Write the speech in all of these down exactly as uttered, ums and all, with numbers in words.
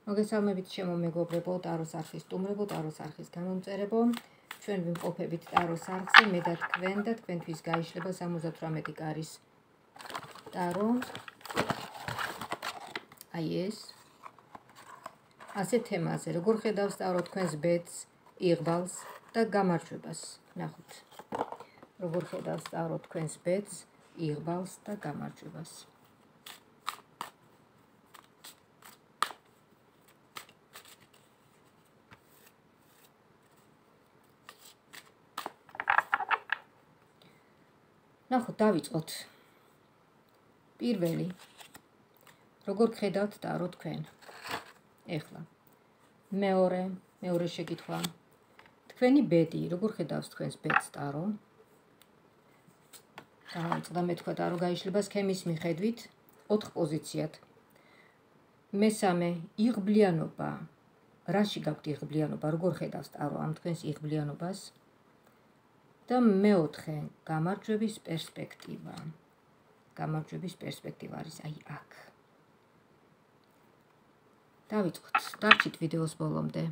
მოგესალმებით ჩემო მეგობრებო, ტაროს არხის სტუმრებო, ტაროს არხის გამომწერებო. ჩვენ ვიმყოფებით ტაროს არხზე, მე და თქვენ და თქვენთვის გაიშლება სამოცდათვრამეტი კარის ტარო. აი ეს. ასე თემაზე, როგორ ხედავს ტარო თქვენს ბედს, იღბალს და გამარჯვებას. ნახოთ. როგორ ხედავს ტარო თქვენს ბედს, იღბალს და გამარჯვებას. ნახოთ, დავიწყოთ. პირველი. როგორ ხედავთ ტარო თქვენ? ეხლა. მეორე, მეორე შეკითხვა. თქვენი ბედი, როგორ ხედავს თქვენს ბედს ტარო? დავიწყდა მე თქვა ტარო გაიშლება სქემის მიხედვით ოთხ პოზიციად. მესამე, იღბლიანობა. რაში გაქვთ იღბლიანობა? როგორ ხედავს ტარო ამ თქვენს იღბლიანობას? და მეოთხე, გამარჯვების პერსპექტივა. გამარჯვების პერსპექტივა არის აი აქ. დავიწყოთ, დარჩით ვიდეოს ბოლომდე.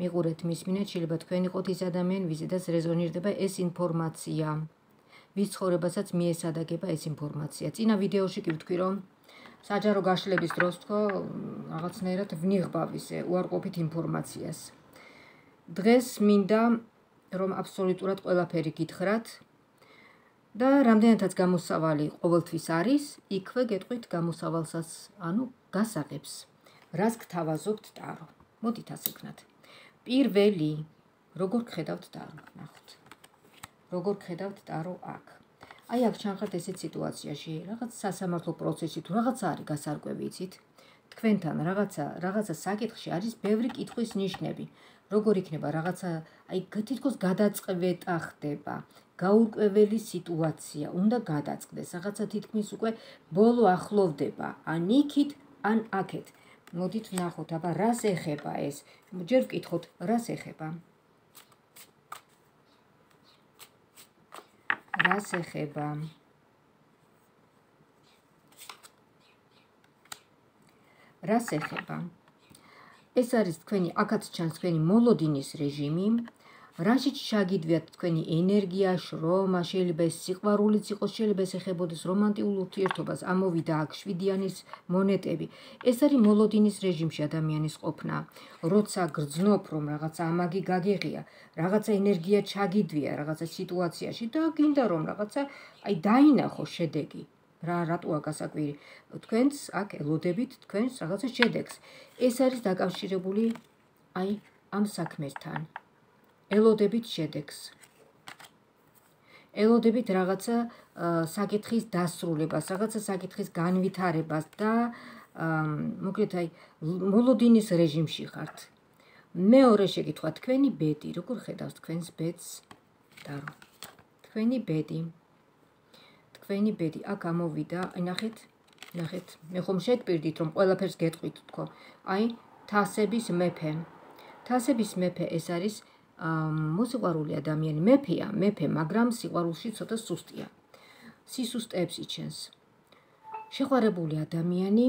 მიყურეთ, მისმინეთ, შეიძლება თქვენ იყოთ ის ადამიანი, ვიზედაც რეზონირდება ეს ინფორმაცია. ვის ცხოვრებასაც მიესადაგება ეს ინფორმაცია. წინა ვიდეოში კი ვთქვი, რომ საჯარო გაშლების დროს თქო რაღაცნაირად ვნიღბავ ისე უარყოფით ინფორმაციას. დღეს მინდა რომ აბსოლუტურად ყველაფერი გითხრათ და რამდენადაც გამოსავალი ყოველთვის არის, იქვე გეტყვით გამოსავალსაც, ანუ გასაღებს. რას გთავაზობთ ტარო? მოდით ასე ვქნათ. პირველი, როგორ გხედავთ ტარო? ნახოთ. როგორ გხედავთ ტარო აქ? აი აქ ჩანხართ ესეთ სიტუაციაში, რაღაც სასამართლო პროცესი თუ რაღაც არის გასარკვევი, იცით? თქვენთან რაღაცა რაღაცა საკითხში არის ბევრი კითხვის ნიშნები. როგორ იქნება რაღაცა, აი თითქოს გადაწყვეტა ხდება, გაურკვეველი სიტუაცია, უნდა გადაწყდეს, რაღაცა თითქმის უკვე ბოლო ახლოვდება, ან იქით, ან აქეთ. მოდით ვნახოთ, აბა რას ეხება ეს? ჯერ ვკითხოთ, რას ეხება? რას ეხება? რას ეხება? ეს არის თქვენი, აქაც ჩანს თქვენი მოლოდინის რეჟიმი, რაშიც ჩაგიდვიათ თქვენი ენერგია, შრომა, შეიძლება ეს სიყვარულიც იყოს, შეიძლება ეს ეხებოდეს რომანტიკულ ურთიერთობას, ამოვიდა აქ შვიდიანის მონეტები. ეს არის მოლოდინის რეჟიმში ადამიანის ყოფნა. როცა გრძნობ, რომ რაღაცა ამაგი გაგეღია, რაღაცა ენერგია ჩაგიდვია რაღაცა სიტუაციაში და გინდა რომ რაღაცა აი დაინახო შედეგი. რა რატოა გასაკვირი? თქვენს აქ ელოდებით თქვენს რაღაცა შედეგს. ეს არის დაკავშირებული აი ამ საქმესთან. ელოდებით შედეგს. ელოდებით რაღაცა საკითხის დასრულებას, რაღაცა საკითხის განვითარებას და მოკლედ აი მოლოდინის რეჟიმში ხართ. მეორე შეკითხვა, თქვენი ბედი, როგორ ხედავს თქვენს ბედს ტარო? თქვენი ბედი. თქვენი ბედი აქ ამოვიდა, აი ნახეთ, ნახეთ, მე ხომ შეგპირდით რომ ყველაფერს გეტყვით თქო. აი თასების მეფე. თასების მეფე ეს არის მოსიყვარული ადამიანი, მეფეა, მეფე, მაგრამ სიყვარულში ცოტა სუსტია. სისუსტეებს იჩენს. შეყვარებული ადამიანი,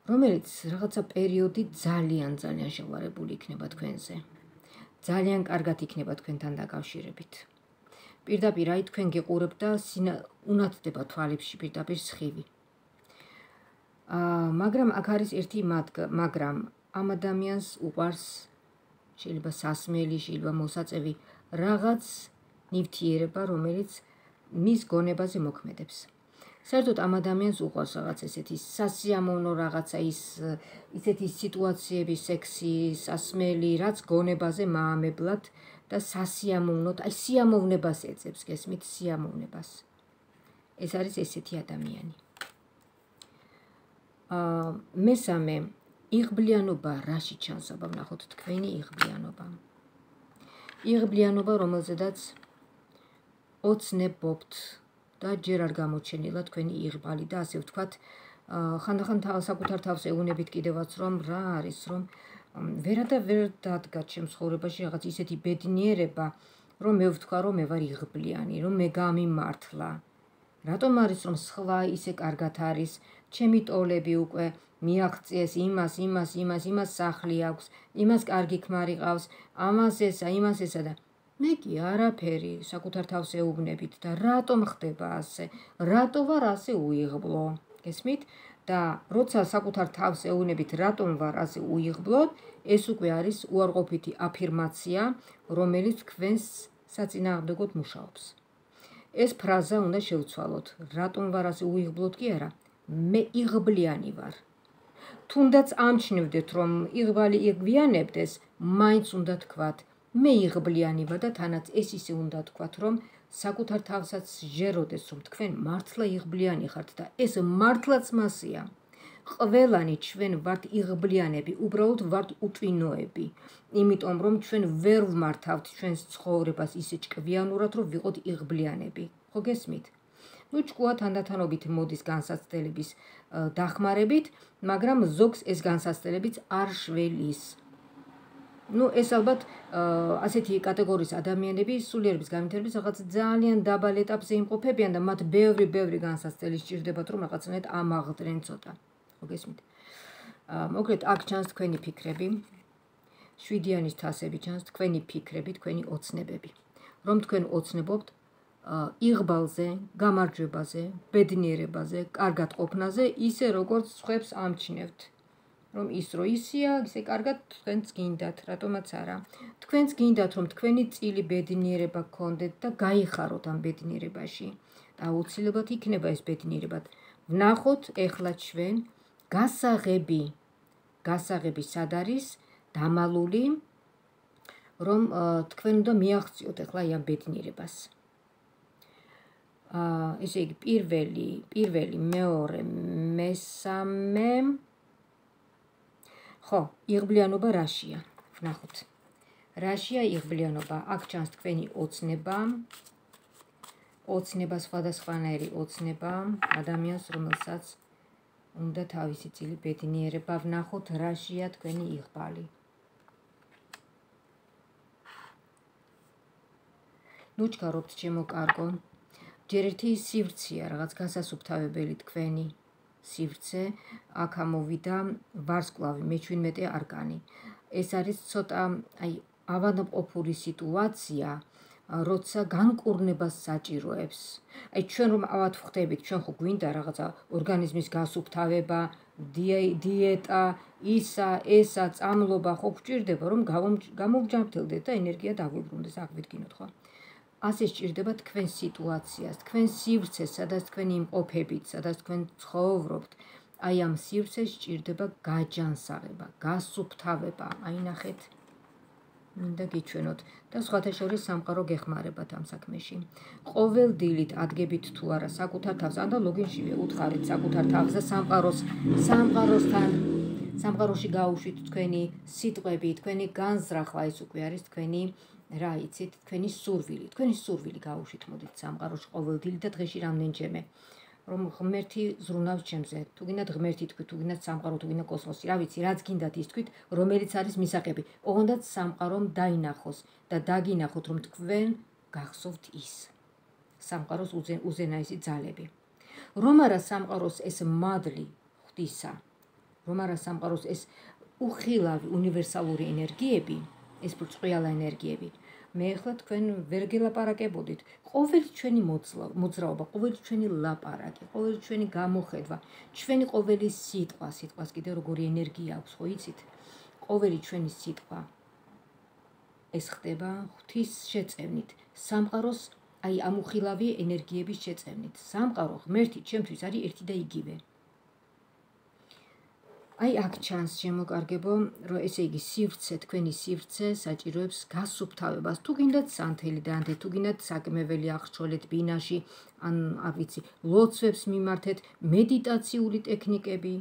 რომელიც რაღაცა პერიოდი ძალიან ძალიან შეყვარებული იქნება თქვენზე. ძალიან კარგად იქნება თქვენთან დაკავშირებით. პირდაპირ აი თქვენ გიყურებთ და უნათდება თვალებში პირდაპირ სხივი. მაგრამ აქ არის ერთი მაგრამ ამ ადამიანს უყვარს შეიძლება სასმელი, შეიძლება მოსაწევი რაღაც ნივთიერება, რომელიც მის გონებაზე მოქმედებს. საერთოდ ამ ადამიანს უყვარს რაღაც ესეთი სასიამოვნო რაღაცა ის ისეთი სიტუაციები, სექსი, სასმელი, რაც გონებაზე მაამებლად და სასიამოვნოდ, აი სიამოვნებას ეძებს, გესმით, სიამოვნებას. ეს არის ესეთი ადამიანი. აა მესამე, იღბლიანობა რაში ჩანს? აბა ვნახოთ თქვენი იღბლიანობა. იღბლიანობა, რომელზედაც ოცნებობთ და ჯერ არ გამოჩენილა თქვენი იღბალი და ასე ვთქვათ, ხანდახან საკუთარ თავს ეუბნებით კიდევაც რომ რა არის, რომ ვერა და ვერ დადგა ჩემს ცხოვრებაში რაღაც ისეთი ბედნიერება, რომ მე ვთქვა, რომ მე ვარ იღბლიანი, რომ მე გამიმართლა. რატომ არის რომ სხვა ისე კარგად არის ჩემი ტოლები უკვე მიაღწიეს იმას, იმას, იმას, იმას სახლი აქვს, იმას კარგი ქმარი ყავს, ამას ესა, იმას ესა და მე კი არაფერი საკუთარ თავს ეუბნებით და რატომ ხდება ასე? რატო ვარ ასე უიღბლო? გესმით? და როცა საკუთარ თავს ეუბნებით რატომ ვარ ასე უიღბლოდ, ეს უკვე არის უარყოფითი აფირმაცია, რომელიც თქვენს საწინააღმდეგოდ მუშაობს. ეს ფრაზა უნდა შევცვალოთ. რატომ ვარ ასე უიღბლოდ კი არა, მე იღბლიანი ვარ. თუნდაც ამჩნევდეთ, რომ იღბალი იგვიანებდეს, მაინც უნდა თქვათ, მე იღბლიანი ვარ და თანაც ეს ისე უნდა თქვათ, რომ საკუთარ თავსაც ჟეროდეს, რომ თქვენ მართლა იღბლიანი ხართ და ეს მართლაც მასია. ყველანი ჩვენ ვართ იღბლიანები, უბრალოდ ვართ უტვინოები, იმიტომ რომ ჩვენ ვერ ვმართავთ ჩვენს ცხოვრებას ისე ჭკვიანურად, რომ ვიყოთ იღბლიანები. ხო გესმით? ნუ ჭკუა თანდათანობით მოდის განსაცდელების დახმარებით, მაგრამ ზოგს ეს განსაცდელებიც არ შველის. ნუ ეს ალბათ ასეთი კატეგორიის ადამიანები სულიერების განვითარების რაღაც ძალიან დაბალ ეტაპზე იმყოფებიან და მათ ბევრი ბევრი განსაცდელი სჭირდებათ, რომ რაღაცნაირად ამაღლდნენ ცოტა. ხო გესმით? მოკლედ აქ ჩანს თქვენი ფიქრები, შვიდიანის თასები ჩანს თქვენი ფიქრები, თქვენი ოცნებები. რომ თქვენ ოცნებობთ იღბალზე, გამარჯვებაზე, ბედნიერებაზე, კარგად ყოფნაზე, ისე როგორც სხვებს ამჩნევთ. რომ ის რო ისია, ისე კარგად თქვენც გინდათ, რატომაც არა. თქვენც გინდათ, რომ თქვენი წილი ბედნიერება გქონდეთ და გაიხაროთ ამ ბედნიერებაში. და აუცილებლად იქნება ეს ბედნიერება. ვნახოთ ეხლა ჩვენ გასაღები, გასაღები სად არის დამალული, რომ თქვენ უნდა მიაღწიოთ ეხლა ამ ბედნიერებას. ესე იგი პირველი, პირველი, მეორე, მესამე ხო, იღბლიანობა რაშია? ვნახოთ. რაშია იღბლიანობა? აქ ჩანს თქვენი ოცნება. ოცნება სხვადასხვანაირი ოცნება ადამიანს, რომელსაც უნდა თავისი წილი ბედნიერება. ვნახოთ რაშია თქვენი იღბალი. ნუ ჩქარობთ ჩემო კარგო. ჯერ ერთი სივრცეა, რაღაც გასასუფთავებელი თქვენი სივრცე, აქ ამოვიდა ვარსკვლავი, მეჩვიდმეტე არკანი. ეს არის ცოტა აი ავადმყოფური სიტუაცია, როცა განკურნებას საჭიროებს. აი ჩვენ რომ ავად ვხდებით, ჩვენ ხო გვინდა რაღაცა ორგანიზმის გასუფთავება, დიეტა, ისა, ესა, წამლობა ხო გვჭირდება, რომ გამოვჯანმრთელდეთ და ენერგია დაგვიბრუნდეს, აღვიდგინოთ ხო? ასე სჭირდება თქვენ სიტუაციას, თქვენ სივრცეს, სადაც თქვენ იმყოფებით, სადაც თქვენ ცხოვრობთ. აი ამ სივრცეს სჭირდება გაჯანსაღება, გასუფთავება. აი ნახეთ, მინდა გიჩვენოთ და სხვათა შორის სამყარო გეხმარებათ ამ საქმეში. ყოველ დილით ადგებით თუ არა საკუთარ თავს, ანდა ლოგინშივე უთხარით საკუთარ თავს და სამყაროს, სამყაროსთან, სამყაროში გაუშვით თქვენი სიტყვები, თქვენი განზრახვა, ეს უკვე არის თქვენი რა იცით, თქვენი სურვილი, თქვენი სურვილი გაუშვით მოდით სამყაროში ყოველდღიურად და დღეში რამდენჯერმე, რომ ღმერთი ზრუნავს ჩემზე, თუ გინდათ ღმერთი თქვით, თუ გინდათ სამყარო, თუ გინდათ კოსმოსი, რა ვიცი, რაც გინდათ ის თქვით, რომელიც არის მისაღები. ოღონდ სამყარომ დაინახოს და დაგინახოთ, რომ თქვენ გახსოვთ ის. სამყაროს უზენაესი ძალები. რომ არა სამყაროს ეს მადლი ღვთისა, რომ არა სამყაროს ეს უხილავი უნივერსალური ენერგიები, ეს ბრწყვილა ენერგიები. მე ახლა თქვენ ვერ გელაპარაკებოდით. ყოველი ჩვენი მოძრაობა, ყოველი ჩვენი ლაპარაკი, ყოველი ჩვენი გამოხედვა, ჩვენი ყოველი სიტყვა, სიტყვას კიდევ როგორი ენერგია აქვს, ხო იცით? ყოველი ჩვენი სიტყვა ეს ხდება ღვთის შეწევნით, სამყაროს აი ამ უხილავი ენერგიების შეწევნით. სამყარო ღმერთი ჩემთვის არის ერთი და იგივე. აი აქ ჩანს შემოკარგებო, რომ ესე იგი სივრცე, თქვენი სივრცე საჭიროებს გასუფთავებას. თუ გინდათ სანთელი დაანთეთ, თუ გინდათ საკმეველი აღრჩოლეთ ბინაში, ან არ ვიცი, ლოცვებს მიმართეთ, მედიტაციული ტექნიკები,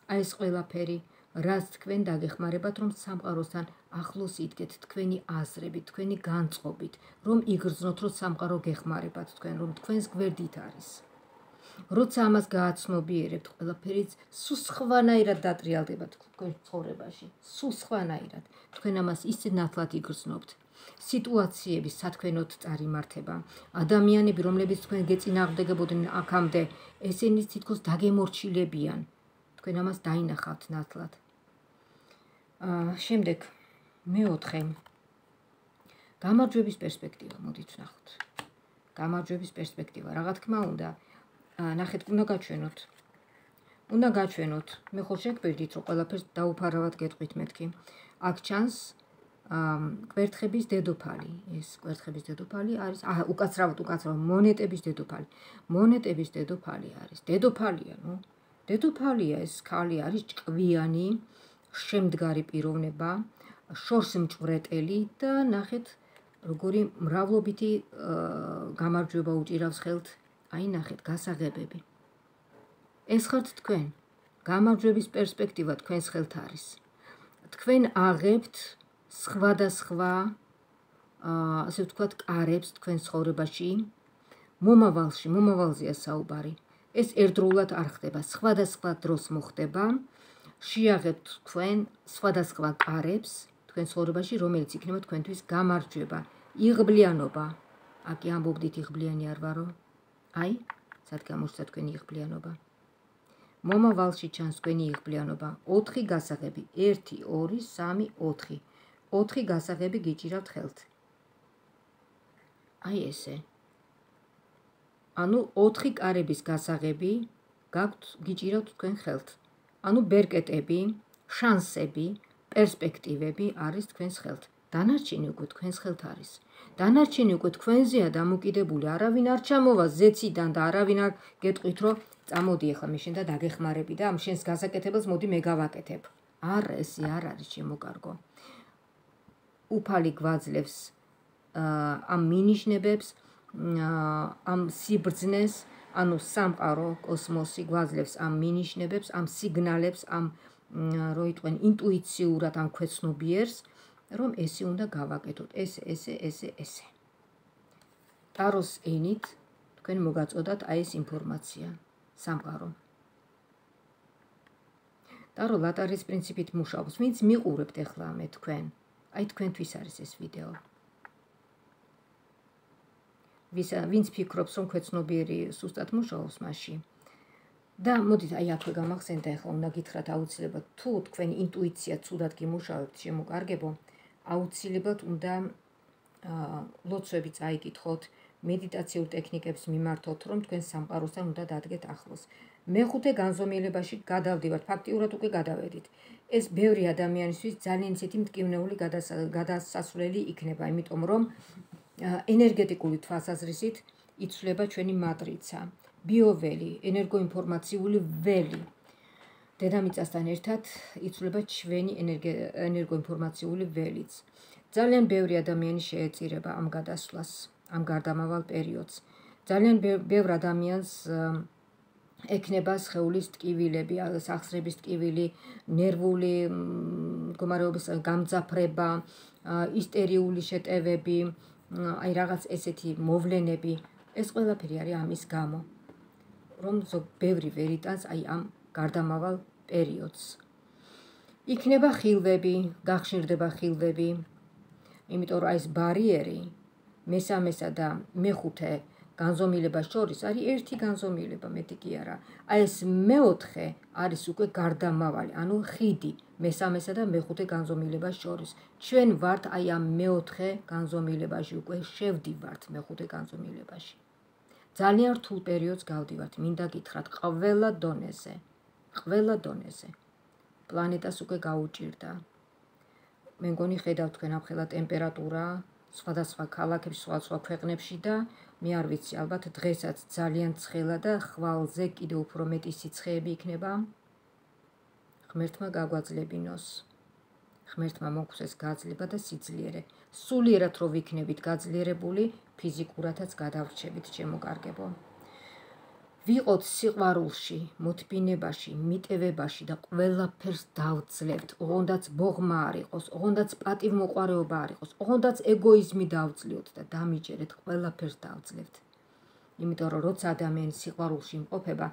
აი ეს ყველაფერი, რაც თქვენ დაგეხმარებათ, რომ სამყაროსთან ახლოს იდგეთ თქვენი აზრებით, თქვენი განწყობით, რომ იგრძნოთ, რომ სამყარო გეხმარებათ თქვენ, რომ თქვენს გვერდით არის. როცა ამას გააცნობიერებთ, ყველაფერიც სულ სხვანაირად დატრიალდება თქვენ ცხოვრებაში, სულ სხვანაირად. თქვენ ამას ისე ნათლად იგრძნობთ. სიტუაციების სათქმელოდ წარიმართება. ადამიანები, რომლებიც თქვენ გეწინააღმდეგებოდნენ აქამდე, ესენი თითქოს დაგემორჩილებიან. თქვენ ამას დაინახავთ ნათლად. შემდეგ მეოთხე გამარჯვების პერსპექტივა, მოდით ვნახოთ. გამარჯვების პერსპექტივა, რა თქმა უნდა, ნახეთ, უნდა გაჩვენოთ. უნდა გაჩვენოთ. მე ხო შეგბერდით, რომ ყველაფერს დაუფარავად გეტყვით მეთქი. აქ ჩანს კვერთხების დედოფალი. ეს კვერთხების დედოფალი არის, აჰა, უკაცრავად, უკაცრავად, მონეტების დედოფალი. მონეტების დედოფალი არის. დედოფალია, ნუ. დედოფალია, ეს ქალი არის ჭკვიანი, შემდგარი პიროვნება, შორს მჭვრეტელი და ნახეთ, როგორი მრავლობითი გამარჯვება უჭირავს ხელთ. აი, ნახეთ, გასაღებები. ეს ხართ თქვენ. გამარჯვების პერსპექტივა თქვენს ხელთ არის. თქვენ აღებთ სხვადასხვა, ასე ვთქვათ, კარებს თქვენ ცხოვრებაში, მომავალში, მომავალზეა საუბარი. ეს ერთდროულად არ ხდება, სხვადასხვა დროს მოხდება. შეაღებთ თქვენ სხვადასხვა კარებს თქვენ ცხოვრებაში, რომელიც იქნება თქვენთვის გამარჯვება, იღბლიანობა. აკი ამბობდით იღბლიანი არ ვარო? აი, სად გამოჩნდა თქვენი იღბლიანობა? მომავალში ჩანს თქვენი იღბლიანობა. ოთხი გასაღები, ერთი, ორი, სამი, ოთხი. ოთხი გასაღები გიჭირავთ ხელთ. აი ესე. ანუ ოთხი კარების გასაღები გაქვთ, გიჭირავთ თქვენ ხელთ. ანუ ბერკეტები, შანსები, პერსპექტივები არის თქვენს ხელთ. დანარჩენი უკვე თქვენს ხელთ არის. დანარჩენი უკვე თქვენზეა დამოკიდებული. არავინ არ ჩამოვა ზეციდან და არავინ არ გეტყვით, რომ წამოდი ახლა მე შენ და დაგეხმარები და ამ შენს გასაკეთებელს მოდი მე გავაკეთებ. არა, ესე არ არის შემოკარგო. უფალი გვაძლევს ამ მინიშნებებს, ამ სიბრძნეს, ანუ სამყარო, კოსმოსი გვაძლევს ამ მინიშნებებს, ამ სიგნალებს, ამ რო იტყვენ ინტუიციურად ამ ქვეცნობიერს, რომ ესე უნდა გავაკეთოთ, ესე, ესე, ესე, ესე. ტაროს ენით თქვენ მოგაწოდათ აი ეს ინფორმაცია, სამყარო. ტარო ლატარის პრინციპით მუშაობს, ვინც მიყურებთ ახლა მე თქვენ, აი თქვენთვის არის ეს ვიდეო. ვინც ფიქრობს, რომ ქვეცნობიერი სუსტად მუშაობს მასში. და მოდით, აი აქვე გამახსენდა, ახლა უნდა გითხრათ აუცილებლად, თუ თქვენი ინტუიცია ცუდად გიმუშავებთ, შემოკარგებო, აუცილებლად უნდა ლოცვები წაიკითხოთ, მედიტაციურ ტექნიკებს მიმართოთ, რომ თქვენ სამყაროსთან უნდა დადგეთ ახლოს. მეხუთე განზომილებაში გადავდივართ, ფაქტიურად უკვე გადავედით. ეს ბევრი ადამიანისთვის ძალიან ისეთი მტკივნეული გადასასვლელი იქნება, იმიტომ რომ ენერგეტიკული თვალსაზრისით იცვლება ჩვენი მატრიცა, ბიოველი, ენერგოინფორმაციული ველი. დედამიწასთან ერთად იცვლება ჩვენი ენერგოინფორმაციული ველიც. ძალიან ბევრი ადამიანი შეეწირება ამ გადასვლას, ამ გარდამავალ პერიოდს. ძალიან ბევრ ადამიანს ექნება სხეულის ტკივილები, სახსრების ტკივილი, ნერვული მდგომარეობის გამძაფრება, ისტერიული შეტევები, აი რაღაც ესეთი მოვლენები, ეს ყველაფერი არის ამის გამო, რომ ბევრი ვერ იტანს აი ამ გარდამავალ პერიოდს. იქნება ხილვები, გახშირდება ხილვები, იმიტომ რომ ეს ბარიერი მესამესა და მეხუთე განზომილებას შორის არის ერთი განზომილება, მეტი კი არა. აი ეს მეოთხე არის უკვე გარდამავალი, ანუ ხიდი მესამესა და მეხუთე განზომილებას შორის. ჩვენ ვართ აი ამ მეოთხე განზომილებაში, უკვე შევდივართ მეხუთე განზომილებაში. ძალიან რთულ პერიოდს გავდივართ, მინდა გითხრათ, ყველა დონეზე, ყველა დონეზე. პლანეტას უკვე გაუჭირდა. მე მგონი ხედავთ თქვენ ამხელა ტემპერატურა სხვადასხვა ქალაქებში, სხვადასხვა ქვეყნებში და მე არ ვიცი, ალბათ დღესაც ძალიან ცხელა და ხვალზე კიდევ უფრო მეტი სიცხეები იქნება. ღმერთმა გაგვაძლებინოს. ღმერთმა მოგვცეს გაძლება და სიძლიერე. სულიერად რო ვიქნებით გაძლიერებული, ფიზიკურადაც გადავრჩებით, შემოკარგებო. ვიყოთ სიყვარულში, მოთბინებაში, მიტევებაში და ყველაფერს დავძლევთ. ოღონდაც ბოღმა არ იყოს, ოღონდაც პატივმოყვარეობა არ იყოს, ოღონდაც ეგოიზმი დავძლევთ და დამიჯერეთ, ყველაფერს დავძლევთ. იმიტომ რომ როცა ადამიანი სიყვარულში იმყოფება,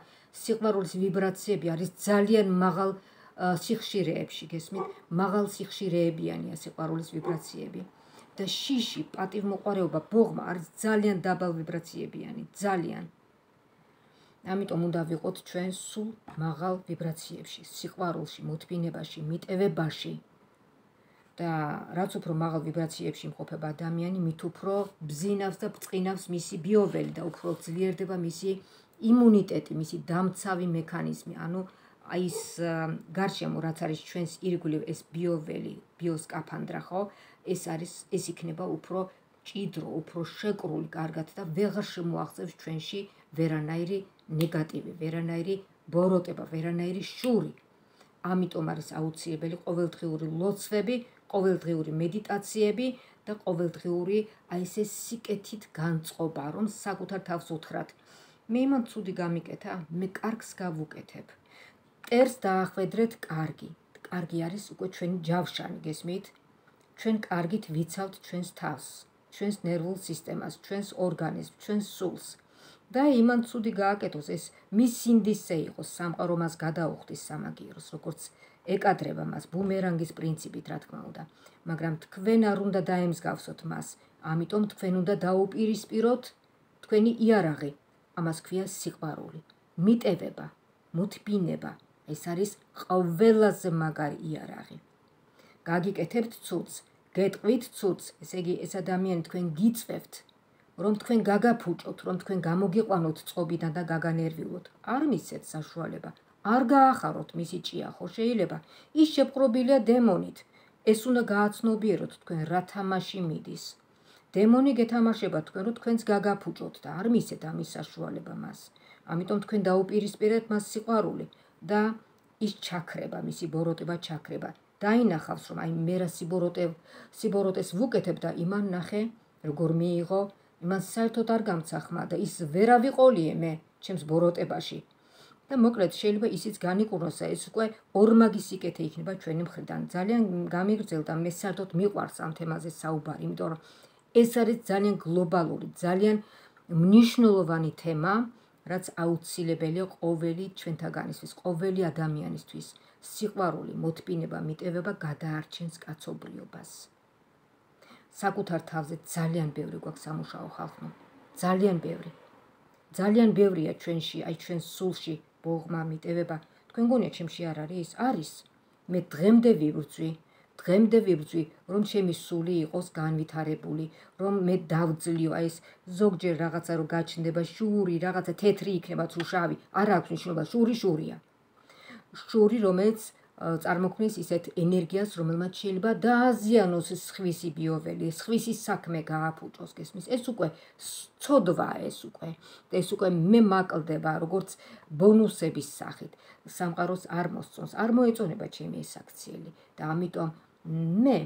სიყვარულის ვიბრაციები არის ძალიან მაღალ სიხშირეებში, გესმით? მაღალ სიხშირეებიანია სიყვარულის ვიბრაციები. და შიში, პატივმოყვარეობა, ბოღმა არის ძალიან დაბალ ვიბრაციებიანი, ძალიან. ამიტომ უნდა ვიყოთ ჩვენ სულ მაღალ ვიბრაციებში, სიყვარულში, მოთმინებაში, მიტევებაში. და რაც უფრო მაღალ ვიბრაციებში იმყოფება ადამიანი, მით უფრო ბზინავს და ბწყინავს მისი ბიოველი და უფრო ძლიერდება მისი იმუნიტეტი, მისი დამცავი მექანიზმი. ანუ აი ეს გარშემო რაც არის ჩვენს ირგვლივ ეს ბიოველი, ბიოსკაფანდრა, ხო? ეს არის ეს იქნება უფრო ჭიდრო, უფრო შეკრული კარგად და ვეღარ შემოაღწევს ჩვენში ვერანაირი ნეგატივი, ვერანაირი ბოროტება, ვერანაირი შური. ამიტომ არის აუცილებელი ყოველდღიური ლოცვები, ყოველდღიური მედიტაციები და ყოველდღიური აი ესე სიკეთით განწყობა, რომ საკუთარ თავს უთხრათ. მე იმან ცუდი გამიკეთა, მე კარგს გავუკეთებ. მტერს დაახვედრეთ კარგი. კარგი არის უკვე ჩვენი ჯავშანი, გესმით? ჩვენ კარგით ვიცავთ ჩვენს თავს, ჩვენს ნერვულ სისტემას, ჩვენს ორგანიზმს, ჩვენს სულს. და იმან ცუდი გააკეთოს, ეს მის სინდისზე იყოს, სამყარო მას გადაუხდის სამაგიეროს, როგორც ეკადრება მას ბუმერანგის პრინციპით, რა თქმა უნდა. მაგრამ თქვენ არ უნდა დაემსგავსოთ მას, ამიტომ თქვენ უნდა დაუპირისპიროთ თქვენი იარაღი. ამას ქვია სიყვარული, მიტევება, მოთმინება. ეს არის ყველაზე მაგარი იარაღი. გაგიკეთებთ ცუდს, გეტყვით ცუდს, ესე იგი ეს ადამიანი თქვენ გიწვევთ, რომ თქვენ გაგაფუჭოთ, რომ თქვენ გამოგიყვანოთ წყობიდან და გაგანერვიულოთ. არ მისცეთ საშუალება, არ გაახაროთ მისი ჭია, ხო შეიძლება? ის შეპყრობილია დემონით. ეს უნდა გააცნობიეროთ თქვენ რა თამაში მიდის. დემონი გეთამაშება თქვენ, რომ თქვენს გაგაფუჭოთ და არ მისცეთ ამის საშუალება მას. ამიტომ თქვენ დაუპირისპირეთ მას სიყვარული და ის ჩაქრება, მისი ბოროტება ჩაქრება. დაინახავს, რომ აი მე რა სიბოროტეს ვუკეთებ და იმან ნახე, როგორ მიიღო, იმან საერთოდ არ გამცა ხმა და ის ვერა ვიყოლიე მე ჩემს ბოროტებაში. და მოკლედ შეიძლება ისიც განიკურნოს, ეს უკვე ორმაგი სიკეთე იქნება ჩვენი მხრიდან. ძალიან გამიგრძელდა, მე საერთოდ მიყვარს ამ თემაზე საუბარი, იმიტომ რომ ეს არის ძალიან გლობალური, ძალიან მნიშვნელოვანი თემა, რაც აუცილებელია ყოველი ჩვენთაგანისთვის, ყოველი ადამიანისთვის. სიყვარული, მოთმინება, მიტევება გადაარჩენს კაცობრიობას. საკუთარ თავზე ძალიან ბევრი გვაქვს სამუშაო ხალხო, ძალიან ბევრი. ძალიან ბევრია ჩვენში, აი ჩვენს სულში, ბოღმა, მიტევება. თქვენ გონია ჩემში არ არის? არის. მე დღემდე ვიბრძვი, დღემდე ვიბრძვი, რომ ჩემი სული იყოს განვითარებული, რომ მე დავძლიო, აი ეს ზოგჯერ რაღაცა რომ გაჩნდება შური, რაღაცა თეთრი იქნება თუ შავი, არ აქვს მნიშვნელობა, შური შურია. შური, რომელიც წარმოქმნის ისეთ ენერგიას, რომელმაც შეიძლება დააზიანოს სხვისი ბიოველი, სხვისი საქმე გააფუჭოს, გესმის? ეს უკვე ცოდვაა, ეს უკვე. ეს უკვე მე მაკლდება, როგორც ბონუსების სახით. სამყაროს არ მოსწონს, არ მოეწონება ჩემი ეს აქციელი და ამიტომ მე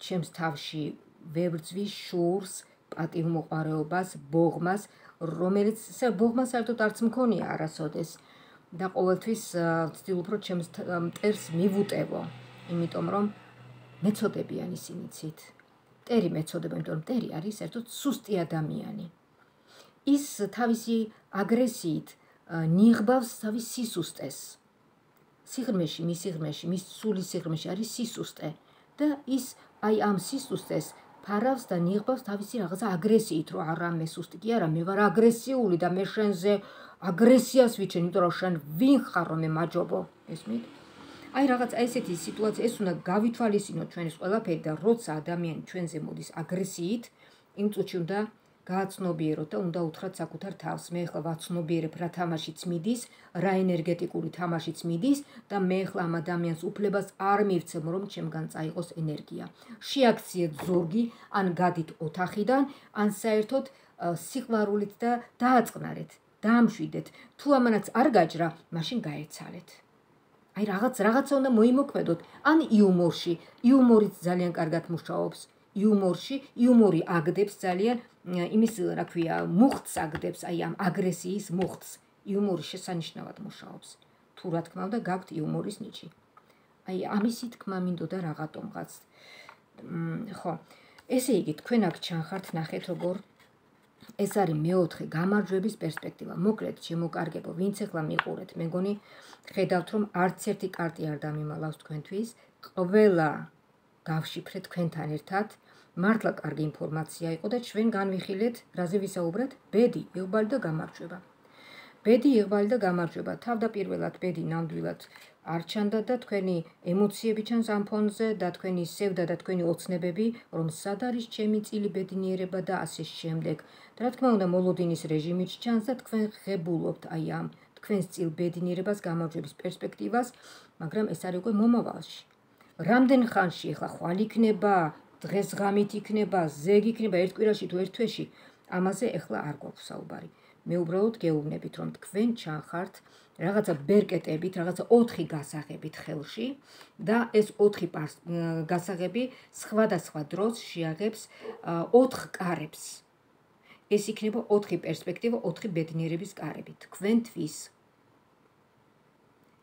ჩემს თავში ვებრძვი შურს, პატივმოყვარეობას, ბოღმას, რომელიც ბოღმა საერთოდ არც მქონია არასოდეს. და ყოველთვის ვცდილობ, რომ ჩემს მტერს მივუტევო, იმიტომ რომ მეწოდებიან ისინი ცით. მტერი მეწოდება, იმიტომ რომ მტერი არის საერთოდ სუსტი ადამიანი. ის თავისი აგრესიით ნიღბავს თავის სისუსტეს. სიღრმეში, მის სიღრმეში, მის სულის სიღრმეში არის სისუსტე და ის აი ამ სისუსტეს ფარავს და ნიღბავს თავისი რაღაცა აგრესიით, რომ არა მე სუსტი კი არა, მე ვარ აგრესიული და მე შენზე აგრესიას ვიჩენ, იმიტომ რომ შენ ვინ ხარ რომ მე მაჯობო, ესმით? აი რაღაც ესეთი სიტუაცია, ეს უნდა გავითვალისწინოთ ჩვენს ყველაფერი და როცა ადამიანი ჩვენზე მოდის აგრესიით, იმ წუთში უნდა გააცნობიეროთ და უნდა უთხრათ საკუთარ თავს, მე ახლა ვაცნობიერებ რა თამაშიც მიდის, რა ენერგეტიკული თამაშიც მიდის და მე ახლა ამ ადამიანს უფლებას არ მივცემ, რომ ჩემგან წაიღოს ენერგია. შეაქციეთ ზურგი, ან გადით ოთახიდან, ან საერთოდ სიყვარულით და დააწყნარეთ. დაამშვიდეთ, თუ ამანაც არ გაჯრა, მაშინ გაეცალეთ. აი რაღაც რაღაცა უნდა მოიმოქმედოთ, ან იუმორში, იუმორიც ძალიან კარგად მუშაობს. იუმორში, იუმორი აგდებს ძალიან იმის, რა ქვია, მუხტს აგდებს, აი ამ აგრესიის მუხტს. იუმორი შესანიშნავად მუშაობს. თუ რა თქმა უნდა, გაქვთ იუმორის ნიჭი. აი ამისი თქმა მინდოდა რაღაცომღაც. ხო, ესე იგი, თქვენ აქ ჩანხართ, ნახეთ როგორ ეს არის მეოთხე გამარჯვების პერსპექტივა. მოკლედ, შემოკარგებო, ვინც ახლა მიყურეთ, მე მგონი ხედავთ, რომ არც ერთი კარტი არ დამიმალავს თქვენთვის. ყველა გავშიფრეთ თქვენთან ერთად. მართლა კარგი ინფორმაცია იყო და ჩვენ განვიხილეთ, რაზე ვისაუბრეთ? ბედი, იღბალი და გამარჯვება. ბედი, იღბალი და გამარჯვება. თავდაპირველად ბედი ნამდვილად არ ჩანდა და თქვენი ემოციები ჩანს ამ ფონზე და თქვენი სევდა და თქვენი ოცნებები, რომ სად არის ჩემი წილი ბედნიერება და ასე შემდეგ. და რა თქმა უნდა, მოლოდინის რეჟიმიც ჩანს და თქვენ ღებულობთ აი ამ თქვენს წილ ბედნიერებას, გამარჯვების პერსპექტივას, მაგრამ ეს არის უკვე მომავალში. რამდენ ხანში ახლა ხვალ იქნება, დღეს ღამით იქნება, ზეგ იქნება, ერთ კვირაში თუ ერთ თვეში, ამაზე ახლა არ გვაქვს საუბარი. მე უბრალოდ გეუბნებით, რომ თქვენ ჩანხართ რაღაცა ბერკეტებით, რაღაცა ოთხი გასაღებით ხელში და ეს ოთხი გასაღები სხვადასხვა დროს შეაღებს ოთხ კარებს. ეს იქნება ოთხი პერსპექტივა, ოთხი ბედნიერების კარები თქვენთვის.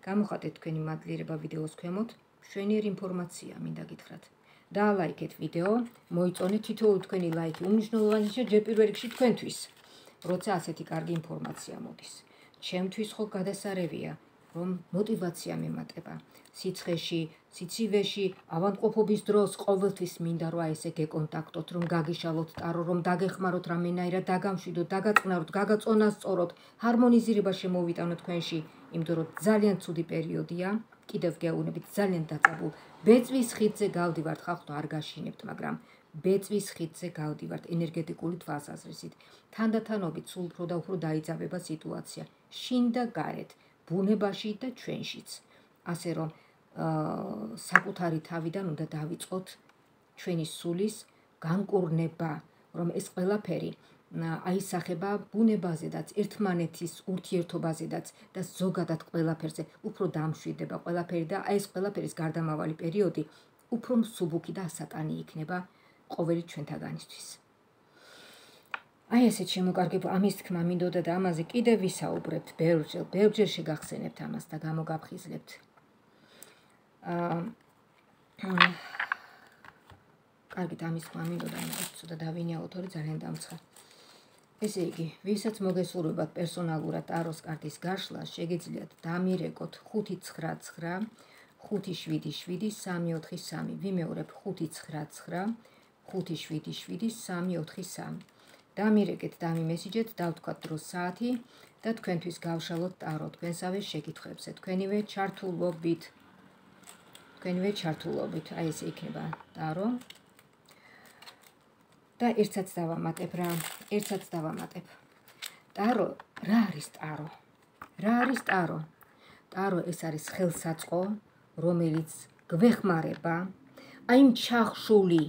გამოხატეთ თქვენი მადლიერება ვიდეოს ქვემოთ, მშვენიერი ინფორმაცია მინდა გითხრათ. დაალაიქეთ ვიდეო, მოიწონეთ თითოეული თქვენი ლაიქი უმნიშვნელოვანესია ჯერ პირველ რიგში თქვენთვის, როცა ასეთი კარგი ინფორმაცია მოდის. ჩემთვის ხო გადასარევია, რომ მოტივაცია მემატება. სიცხეში, სიცივეში, ავადმყოფობის დროს ყოველთვის მინდა რომ ესე გეკონტაქტოთ, რომ გაგიშალოთ ტარო, რომ დაგეხმაროთ რამენაირად, დაგამშვიდოთ, დაგაწნაროთ, გაგაწონასწოროთ, ჰარმონიზირება შემოვიტანოთ თქვენში, იმიტომ რომ ძალიან ცუდი პერიოდია, კიდევ გეუბნებით, ძალიან დაწაბულ. ბეწვის ხიდზე გავდივართ, ხალხო არ გაშინებთ, მაგრამ ბეწვის ხიდზე გავდივართ ენერგეტიკული თვალსაზრისით. თანდათანობით სულ უფრო და უფრო დაიძაბება სიტუაცია. შინ და გარეთ, ბუნებაში და ჩვენშიც. ასე რომ საკუთარი თავიდან უნდა დავიწყოთ ჩვენი სულის განკურნება, რომ ეს ყველაფერი აისახება ბუნებაზედაც, ერთმანეთის ურთიერთობაზედაც და ზოგადად ყველაფერზე უფრო დამშვიდდება ყველაფერი და ეს ყველაფერის გარდამავალი პერიოდი უფრო მსუბუქი და ასაკანი იქნება ყოველი ჩვენთაგანისთვის. აი ესეთ შემოკარგება ამის თქმა მინდოდა და ამაზე კიდევ ვისაუბრებთ ბევრჯერ, ბევრჯერ შეგახსენებთ ამას და გამოგაფხიზლებთ. კარგით, ამის თქმა მინდოდა, მაგრამ ცოტა დავინიაოთ, ორი ძალიან დამცხა. ესე იგი, ვისაც მოგესურვებათ პერსონალურად ტაროს კარტის გაშლა, შეგიძლიათ დამირეკოთ ხუთი ცხრა ცხრა, ხუთი შვიდი შვიდი, სამი ოთხი სამი. ვიმეორებ ხუთი ცხრა ცხრა, ხუთი შვიდი შვიდი, სამი ოთხი სამი. დამირეკეთ, დამიმესიჯეთ, დავთქვათ დრო საათი და თქვენთვის გავშალოთ ტარო თქვენსავე შეკითხვებზე. თქვენივე ჩართულობით. თქვენივე ჩართულობით. აი ესე იქნება ტარო. და ერთსაც დავამატებ რა, ერთსაც დავამატებ. ტარო, რა არის ტარო? რა არის ტარო? ტარო ეს არის ხელსაწყო, რომელიც გვეხმარება აი იმ ჩახშული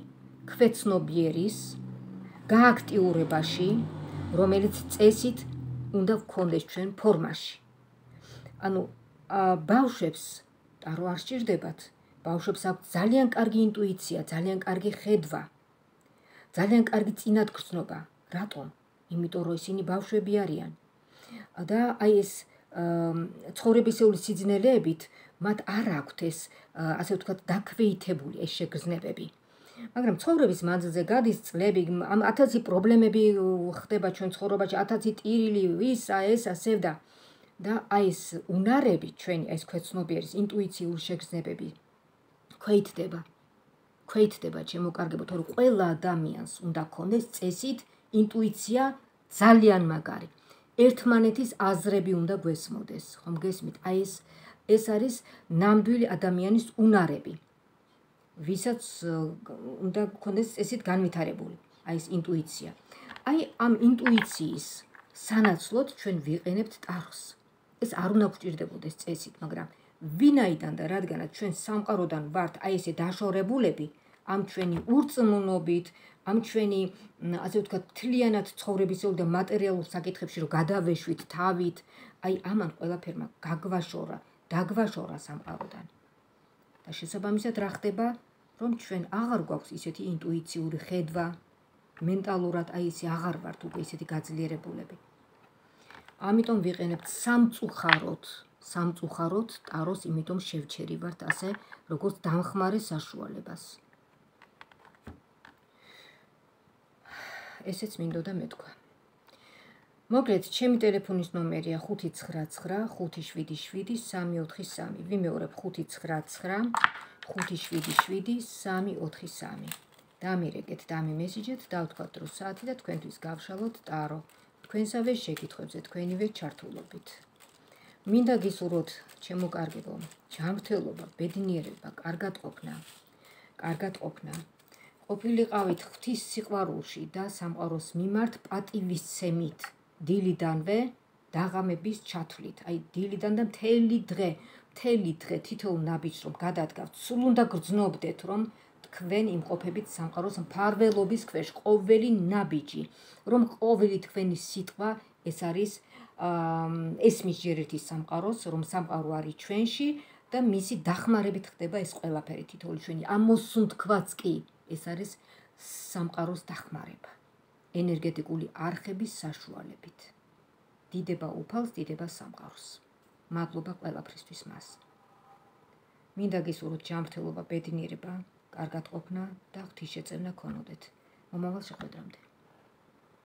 ქვეცნობიერის გააქტიურებაში, რომელიც წესით უნდა ვქონდეს ჩვენ ფორმაში. ანუ ბავშვებს ტარო არ სჭირდებათ. ბავშვებს აქვთ ძალიან კარგი ინტუიცია, ძალიან კარგი ხედვა. ძალიან კარგი წინათგრძნობა. რატომ? იმიტომ რომ ისინი ბავშვები არიან. და აი ეს ცხოვრებისეული სიძნელეებით მათ არ აქვთ ეს, ასე ვთქვათ, დაქვეითებული ეს შეგრძნებები. მაგრამ ცხოვრების მანძილზე გადის წლები, ათასი პრობლემები ხდება ჩვენ ცხოვრებაში, ათასი ტირილი, ისა, ესა, სევდა. და აი ეს უნარები ჩვენი, ეს ქვეცნობიერის ინტუიციური შეგრძნებები ქვეითდება. ქვეითდება შემოკარგებო, თორე ყველა ადამიანს უნდა ქონდეს წესით ინტუიცია ძალიან მაგარი. ერთმანეთის აზრები უნდა გვესმოდეს, ხომ გესმით? აი ეს ეს არის ნამდვილი ადამიანის უნარები, ვისაც უნდა ქონდეს წესით განვითარებული, აი ეს ინტუიცია. აი ამ ინტუიციის სანაცვლოდ ჩვენ ვიყენებთ ტაროს. ეს არ უნდა გვჭირდებოდეს წესით, მაგრამ ვინაიდან და რადგანაც ჩვენ სამყაროდან ვართ აი ესე დაშორებულები, ამ ჩვენი ურწმუნობით, ამ ჩვენი, ასე ვთქვათ, მთლიანად ცხოვრებისეულ და მატერიალურ საკითხებში რომ გადავეშვით თავით, აი ამან ყველაფერმა გაგვაშორა, დაგვაშორა სამყაროდან. და შესაბამისად რა ხდება, რომ ჩვენ აღარ გვაქვს ისეთი ინტუიციური ხედვა, მენტალურად აი ესე აღარ ვართ უკვე ისეთი გაძლიერებულები. ამიტომ ვიყენებთ სამწუხაროდ, სამწუხაროდ ტაროს, იმიტომ შევჩერივართ ასე, როგორც დამხმარე საშუალებას. ესეც მინდოდა მეთქვა. მოკლედ, ჩემი ტელეფონის ნომერია ხუთი ცხრა ცხრა ხუთი შვიდი შვიდი სამი ოთხი სამი. ვიმეორებ ხუთი ცხრა ცხრა ხუთი შვიდი შვიდი სამი ოთხი სამი. დამირეკეთ, დამიმესიჯეთ, დავთქვათ დრო საათი და თქვენთვის გავშალოთ ტარო. თქვენსავე შეკითხვებზე თქვენივე ჩართულობით. მინდა გისურვოთ, ჩემო კარგებო, ჯანმრთელობა, ბედნიერება, კარგად ყოფნა. კარგად ყოფნა. ყოფილიყავით ღვთის სიყვარულში და სამყაროს მიმართ პატივისცემით. დილიდანვე დაღამების ჩათვლით. აი დილიდან და მთელი დღე, მთელი დღე თითოეულ ნაბიჯს რომ გადადგავთ, სულ უნდა გრძნობდეთ, რომ თქვენ იმყოფებით სამყაროს მფარველობის ქვეშ, ყოველი ნაბიჯი, რომ ყოველი თქვენი სიტყვა ეს არის ესმის ჯერერთის სამყაროს, რომ სამყარო არის ჩვენში და მისი დახმარებით ხდება ეს ყველაფერი თითოეული ჩვენი ამოსუნთქვაც კი ეს არის სამყაროს დახმარება. ენერგეტიკული არხების საშუალებით. დიდება უფალს, დიდება სამყაროს. მადლობა ყველაფრისთვის მას. მინდა გისურვოთ ჯანმრთელობა, ბედნიერება, კარგად ყოფნა და ღვთისშეწევნა გქონოდეთ. მომავალ შეხვედრამდე.